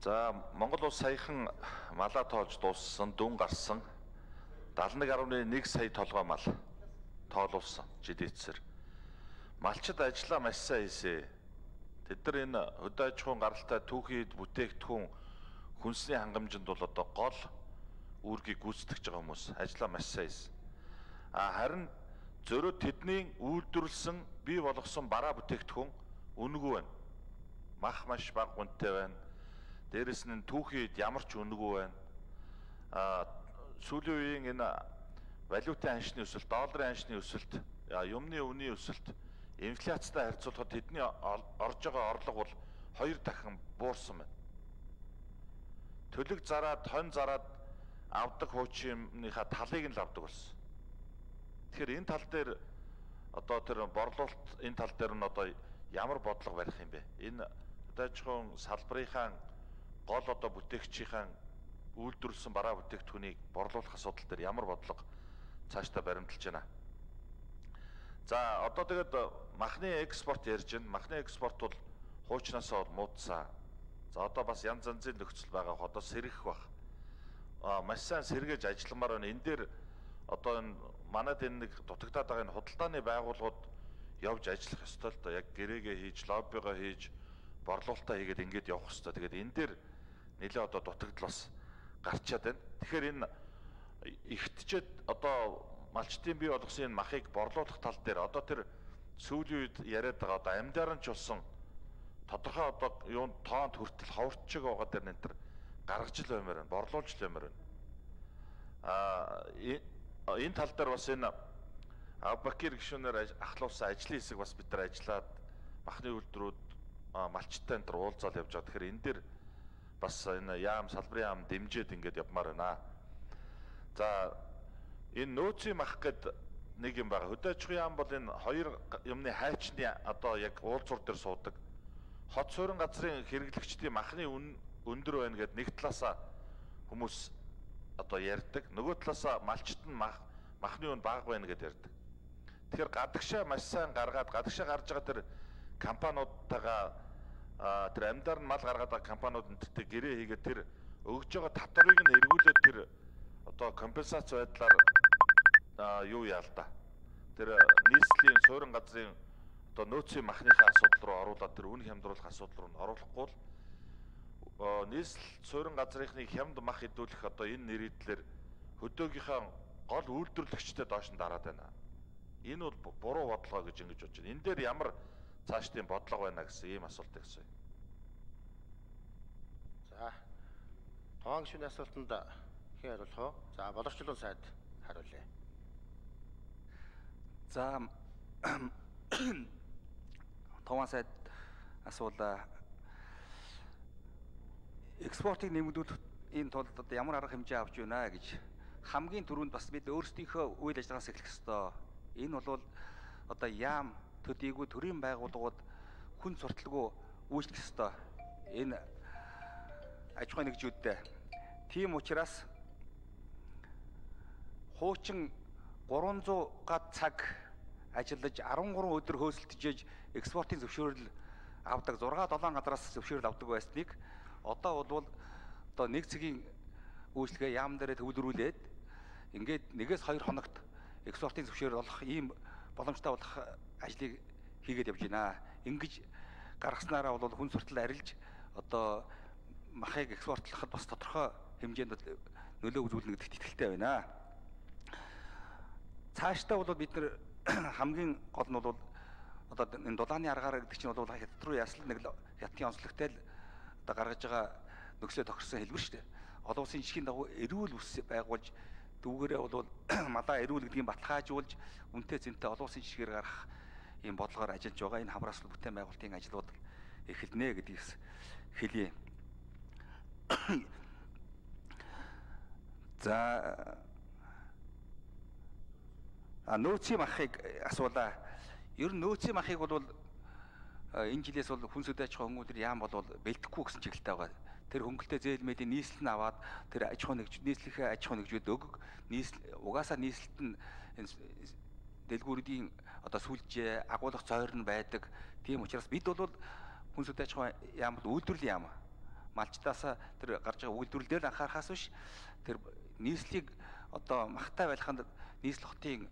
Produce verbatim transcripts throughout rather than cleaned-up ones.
За Монгол улс саяхан малаа тоолж дууссан, дүн гарсан даалл нэг гаруй нэг сая толгой мал тоолуулсан жилэтсэр. Малчид ажиллаа маш сайн хийсэ. Тэд нар энэ хөдөө аж ахуйн гаралтай түүхийд бүтээгдэхүүн хүнсний хангамжинд бол одоо гол үүргийг гүйцэтгэж байгаа хүмүүс ажиллаа маш сайн хийсэн. А харин зөрөө тэдний үйлдвэрлэсэн бий болгосон бараа бүтээгдэхүүн үнэгүй байна. Мах маш бага гүнтэй байна. Дээрэс нь түүхийд ямар ч үнэгүй байна. А сүүлийн үеийн энэ валютын ханшны өсөлт, долларын ханшны өсөлт, юмны үнийн өсөлт, инфляцтай харьцуулахад тэдний орж байгаа орлого бол хоёр дахин буурсан байна. Төлөг зараад, хонь зараад авдаг хуучинныхаа талыг нь л авдаг болсон. Тэгэхээр энэ тал дээр одоо тэр борлуулалт энэ тал дээр нь одоо ямар бодлого барих юм бэ? Энэ хөдөө аж ахуйн салбарынхаа гол одоо бүтээгчийн үйлдвэрлэсэн бараа бүтээгдэхүүнийг борлуулах асуудал дээр ямар бодлого цаашдаа баримталж байна. За одоо тэгээд махны экспорт ярьж байна. Махны экспорт бол хуучнаасаа бол муудсан. За одоо бас янз янзын нөхцөл байгаа. Одоо сэргэх бах. А маш сайн сэргээж ажилламаар байна. Энэ дээр одоо энэ манайд энэ нэг дутагдаад байгаа энэ худалдааны байгууллагууд явж ажиллах ёстой л доо. Яг гэрээгээ хийж, лоббигоо хийж, борлуулалтаа хийгээд ингэж явах ёстой. Тэгээд энэ дээр нэлээ одоо дутагдал бас гарчаад байна. Тэгэхээр энэ ихтчээд одоо малчтын бий болгосон энэ махыг борлуулах тал дээр одоо тэр сүүлийн үед яриад байгаа одоо амьдарч болсон тодорхой одоо юунд тоонд хүртэл ховорчиг байгаа дээр энэ төр гаргаж л баймаар байна, борлуулж л баймаар байна. А энэ тал дээр бас энэ Авбакир гишүүнээр ахлуулсан ажлын хэсэг бас бид нар ажиллаад махны үйлдвэрүүд малчтай энэ төр уулзаал явж байгаа. Тэгэхээр энэ дээр бас энэ яам салбарын яам дэмжиж ингээд явмаар байна. За энэ нөөцийн мах гэд нэг юм байгаа. Хөдөө аж ахуйн яам бол энэ хоёр юмны хайчны одоо яг уулзвар дээр суудаг. Хот суурин газрын хэрэглэгчдийн махны үн өндөр байна гэд нэг талаасаа хүмүүс одоо ярьдаг. Нөгөө талаасаа малчт нь мах махны үн бага байна гэд ярьдаг. Тэгэхээр гадагшаа маш сайн гаргаад гадагшаа гарч байгаа тэр компаниудтайгаа тэр амьдаар нь мал гаргаад байгаа компаниуд энтертэй гэрээ хийгээд тэр өгж байгаа татварыг нь эргүүлээд тэр одоо компенсац байдлаар юу яа л да. Тэр нийслэлийн суурин газрын одоо нөөцийн махныхаа асуудал руу оруулаад тэр үн хямдруулах асуудал руу оруулахгүй л нийслэл суурин газрынхны хямд мах хэдүүлэх одоо энэ нэрийдлэр хөдөөгийнхаа гол үйлдвэрлэгчтэй доош нь дараад байна. Энэ бол буруу бодлого гэж ингэж бодож байна. Энэ дээр ямар цаашдын бодлого байна гэсэн ийм асуулт гэсэн. За. Тоон гишүүний асуултанд хэн хариулах вэ? За, боловсчлон сайд хариулъя. За Тоон сайд асуулаа. Экспортыг нэмэгдүүлэх энэ тулд одоо ямар арга хэмжээ авч байна гэж хамгийн түрүүнд бас бид өөрсдийнхөө үйл ажиллагаас эхлэх ёстой. Энэ бол одоо яам төдийгүй төрийн байгууллагууд хүн сурталгүй үйлчлэх ёстой. Энэ аж ахуйн нэгжүүдтэй. Тийм учраас хуучин гурван зуун гад цаг ажиллаж арван гурван өдөр хөөсөлтөж экспортын зөвшөөрөл авдаг зургаа долоон газраас зөвшөөрөл авдаг байсныг одоо бол одоо нэг цагийн үйлчлэгээ яам дээрээ төвлөрүүлээд ингээд нэгээс хоёр хоногт экспортын зөвшөөрөл олох ийм боломжтой болох ажлыг хийгээд явж байна. Ингэж гаргаснараа бол хүн суртал арилж одоо махыг экспортлоход бас тодорхой хэмжээнд нөлөө үзүүлнэ гэдэгт итгэлтэй байна. Цаашдаа бол бид нар хамгийн гол нь бол одоо энэ дулааны аргаар гэдэг чинь бол хятад руу ясал нэг хятадын онцлогтой л одоо гаргаж байгаа нөхцөлөд тохирсон хэлбэр шүү дээ. Олон улсын жишгийн дагуу эрүүл ус байгуулж дүүгээрээ бол малаа эрүүл гэдгийг баталгаажуулж үнэтэй зэнтэй олон улсын жишгээр гарах ийм бодлогоор ажиллаж байгаа. Энэ хамрааслал бүтээн байгуулалтын ажлууд эхэлнэ гэдгийгс хэлье. За а нөөцийн махыг асуулаа. Ер нь нөөцийн махыг бол энэ жилээс бол хүнс хөдөө аж ахуйн хөдөлгөөний яам бол бэлтгэхгүй гэсэн чиглэлтэй байгаа. Тэр хөнгөлтэй зээлмэдийн нийслэл нь аваад тэр аж ахуйн нэгж нийслэлийн аж ахуйн нэгжүүд өг нийслэл угаасаа нийслэлт нь дэлгүүрийн одоо сүлжээ агуулгах цойр нь байдаг. Тийм учраас бид бол хүнс хөдөө аж ахуйн яам бол үйлдвэрлэлийн яам. малчдаасаа тэр гарч байгаа үйлдвэрлэл дээр анхаарахаас биш тэр нийслэлийг одоо магтай байлханд нийслэл хотын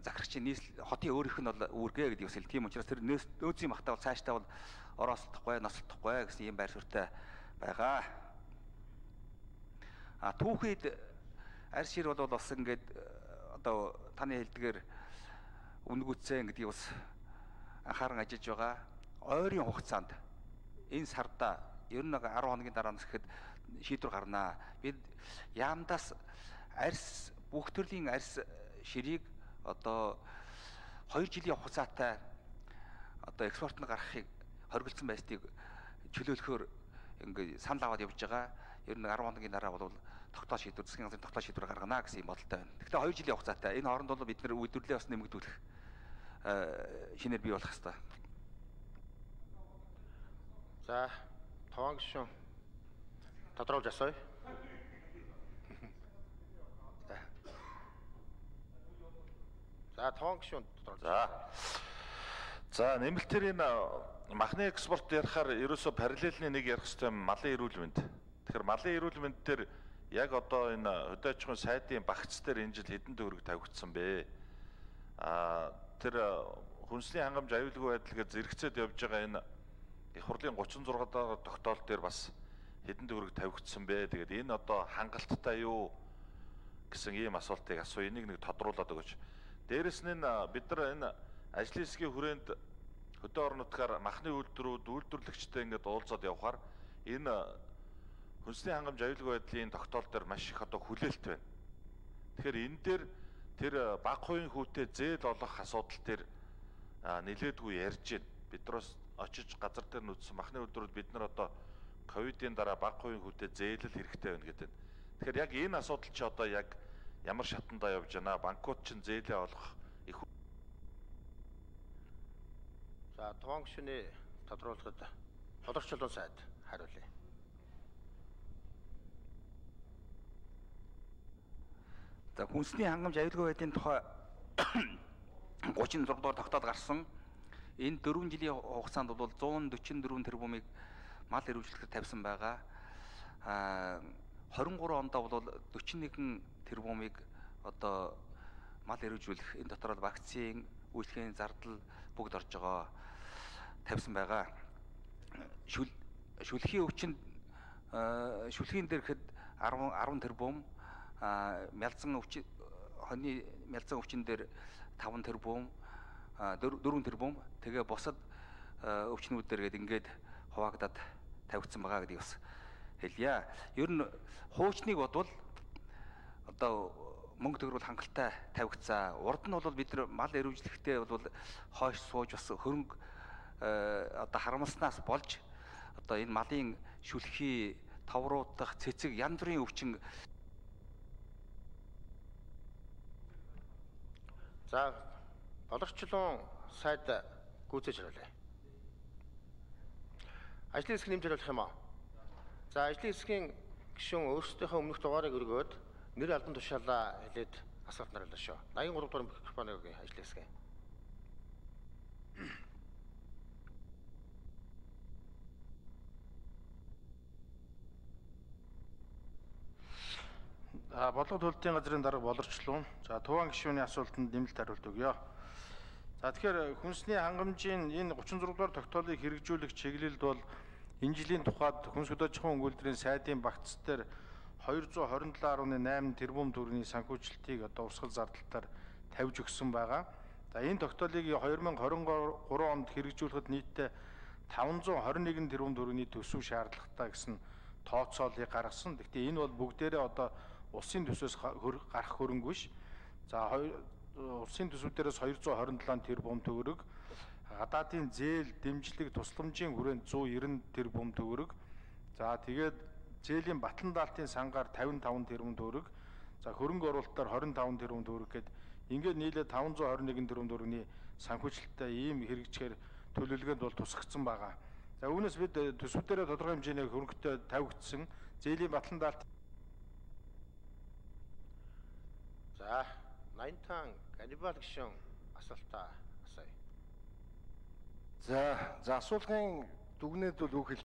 захирагчийн нийслэл хотын өөрийнх нь бол үүргээ гэдэг үсэл. Тийм учраас тэр нөөцийн магтаа бол цаашдаа бол ороослохгүй, нослохгүй гэсэн ийм байр суурьтай байгаа. А түүхэд арьс шир бол бас ингээд одоо таны хэлдгээр үнэгүцэн гэдгийг бас анхааран ажиллаж байгаа. Ойрын хугацаанд энэ сарда ер нь арван хоногийн дараа нь гэхэд шийдвэр гарнаа. Бид яамдаас арьс бүх төрлийн арьс ширийг одоо хоёр жилийн хугацаатай одоо экспортод гаргахыг хориглосон байсныг чөлөөлөхөөр ингээд санал аваад явж байгаа. Ер нь арван хоногийн дараа бол тогтоол шийдвэр, засгийн газрын тогтоол шийдвэр гаргана гэсэн юм бодолтой байна. Гэхдээ хоёр жилийн хугацаатай. Энэ хооронд бол бид нэр үйлдвэрлэлээ бас нэмэгдүүлэх шинээр бий болох хэрэгтэй. За, таван гишүүн тодруулж асууя. За, таван гишүүн тодруулж. За. За, нэмэлтээр энэ махны экспорт ярихаар ерөөсө параллельны нэг ярих хэрэгтэй малын эрүүл мэнд. Тэгэхээр малын эрүүл мэнд дээр яг одоо энэ хөдөө аж ахуйн сайдын багц дээр энэ жил хэдэн төгрөг тавигдсан бэ? Аа тэр хүнсний хангамж аюулгүй байдал гэж зэрэгцээд явж байгаа энэ их хурлын гучин зураг дахь тогтоол дээр бас хэдэн төгрөг тавигдсан бэ? Тэгээд энэ одоо хангалттай юу гэсэн ийм асуултыг асууя. Энийг нэг тодруулаад өгөөч. Дээрэс нь бид нар энэ ажлын хэсгийн хүрээнд хөдөө орон нутгаар махны үйлдвэрүүд үйлдвэрлэгчтэй ингээд уулзаад явхаар энэ хүнсний хангамж аюулгүй байдлын тогтоол дээр маш их одоо хүлээлт байна. Тэгэхээр энэ дээр тэр бага хувийн хүүтэй зээл олох асуудал дээр нэлээдгүй ярьж байна. Биднээс очиж газар дээр нүдсэн махны үйлдвэрүүд бид нар одоо ковидын дараа бага хувийн хүүтэй зээлэл хэрэгтэй байна гэдэг. Тэгэхээр яг энэ асуудал чи одоо яг ямар шатандаа явж байна? Банкуд чинь зээлээ олох их. За, таван гишүүний тодруулахад Боловч чулуун сайд хариулъя. За, хүнсний хангамж аюулгүй байдлын тухай гучин зураг дугаар тогтоол гарсан. Энэ дөрвөн жилийн хугацаанд бол зуун дөчнө дөрвөн тэрбумыг мал эрүүжлэхэд тавьсан байгаа. Аа хорин гурван онд бол дөчнө нэгэн тэрбумыг одоо мал эрүүжүүлэх, энэ дотор бол вакцин, үйлчлэгийн зардал бүгд орж байгаа тавьсан байгаа. Шүл шүлхийн өвчнөд шүлхийн дээр хэд арван тэрбум, мялзан өвчин хоньны мялзан өвчин дээр таван тэрбум, дөрвөн тэрбум, тэгээ бусад өвчнүүд дээр гээд ингээд хуваагдаад тавигдсан байгаа гэдгийг бас хэлье. Ер нь хуучныг бодвол одоо мөнгө төгрөг хангалттай тавигдсан. Урд нь бол бид нар мал эрүүжлэхдээ бол хойш сууж бас хөрөнгө одоо харамлснаас болж одоо энэ малын шүлхий, товруутах, цэцэг янз бүрийн өвчин. За, Боловч чулуун сайд гүйцээж хариулъя. Ажлын хэсэг нэмж хариулах юм аа. За, ажлын хэсгийн гишүүн өөрсдийнхөө өмнөх дугаарыг өргөөд нэр албан тушаалаа хэлээд асуулт нариулаа шүү. найман гурав дугаар микрофоныг өгье ажлын хэсгийн. А бодлого төлөлтийн газрын дарга боловчлуун. За, Туван гишүүний асуултанд нэмэлт хариулт өгье. За, тэгэхээр хүнсний хангамжийн энэ гучин зураг дугаар тогтоолыг хэрэгжүүлэх чиглэлд бол энэ жилийн тухайд хүнс хөдөө аж ахуйн үйлдвэрийн сайдын багц дээр хоёр зуун хорин долоо гаруй найман тэрбум төгрөгийн санхүүжилтийг одоо урсгал зардалтаар тавьж өгсөн байгаа. За, энэ тогтоолыг хоёр мың хорин гурав онд хэрэгжүүлэхэд нийтдээ таван зуун хорин нэгэн тэрбум төгрөгийн төсөв шаардлагатай гэсэн тооцоолыг гаргасан. Гэхдээ энэ бол бүгдээрээ одоо улсын төсвөөс гарах хөрөнгө биш. За, улсын төсвүүдээс хоёр зуун хорин долоо тэрбум төгрөг, гадаадын зээл, дэмжлэг, тусламжийн хүрээнд зуун найман тэрбум төгрөг. За, тэгээд зээлийн батлан даалтын сангаар тавин таван тэрбум төгрөг. За, хөрөнгө оруулалтаар хорин таван тэрбум төгрөг гэд ингээд нийлээ таван зуун хорин нэгэн тэрбум төгрөгийн санхүүжилттэй ийм хэрэгжгээр төлөвлөгөөнд бол тусгагдсан байгаа. За, үүнээс бид төсвүүдээрээ тодорхой хэмжээний хөрөнгөтэй тавигдсан зээлийн батлан даалт. За, Наймтан Ганнибал гишүүн асуултаа асууя. За, за асуулгын дүгнээд бол үг хэл